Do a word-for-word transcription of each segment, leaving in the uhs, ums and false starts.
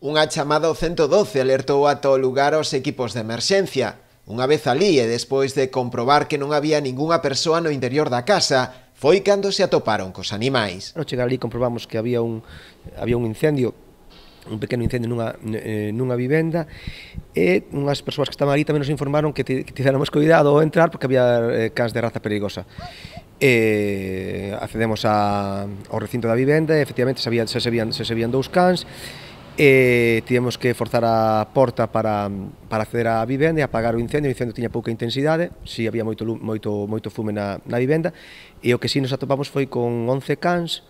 Unha chamada ao ciento doce alertou ata o lugar aos equipos de emerxencia. Unha vez alí e despois de comprobar que non había ningunha persoa no interior da casa, foi cando se atoparon cos animais. Ao chegar ali comprobamos que había un, había un incendio, un pequeno incendio nunha, eh, nunha vivenda, e unhas persoas que estaban ali tamén nos informaron que, que tivéramos cuidado ao entrar porque había eh, cans de raza perigosa. E accedemos a, ao recinto da vivenda e efectivamente se, había, se, se, vían, se, se vían dous cans, e tivemos que forzar a porta para, para acceder á vivenda e apagar o incendio. O incendio tiña pouca intensidade, si había moito, moito, moito fume na, na vivenda, e o que si nos atopamos foi con once cans,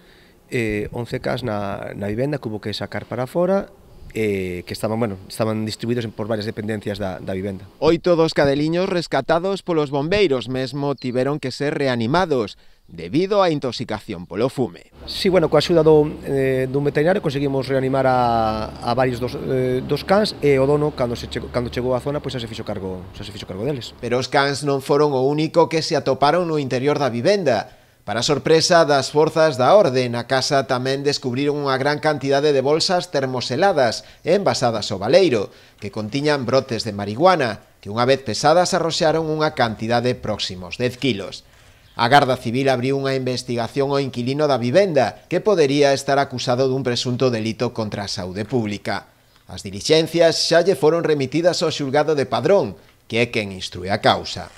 eh, once cans na, na vivenda que hubo que sacar para fora, eh, que estaban, bueno, estaban distribuídos por varias dependencias da, da vivenda. Oito dos cadeliños rescatados polos bombeiros mesmo tiveron que ser reanimados debido á intoxicación polo fume. Sí, bueno, coa axuda do, eh, dun veterinario conseguimos reanimar a, a varios dos, eh, dos cans, e o dono, cando, se chegou, cando chegou á zona, pois xa se fixo cargo, xa se fixo cargo deles. Pero os cans non foron o único que se atoparon no interior da vivenda. Para sorpresa das forzas da orde, na casa tamén descubriron unha gran cantidade de bolsas termoseladas e envasadas ao baleiro, que contiñan brotes de marihuana, que unha vez pesadas arroxaron unha cantidade próximos dez kilos. A Garda Civil abriu unha investigación ao inquilino da vivenda, que podería estar acusado dun presunto delito contra a saúde pública. As dilixencias xa lle foron remitidas ao xulgado de Padrón, que é quen instrúe a causa.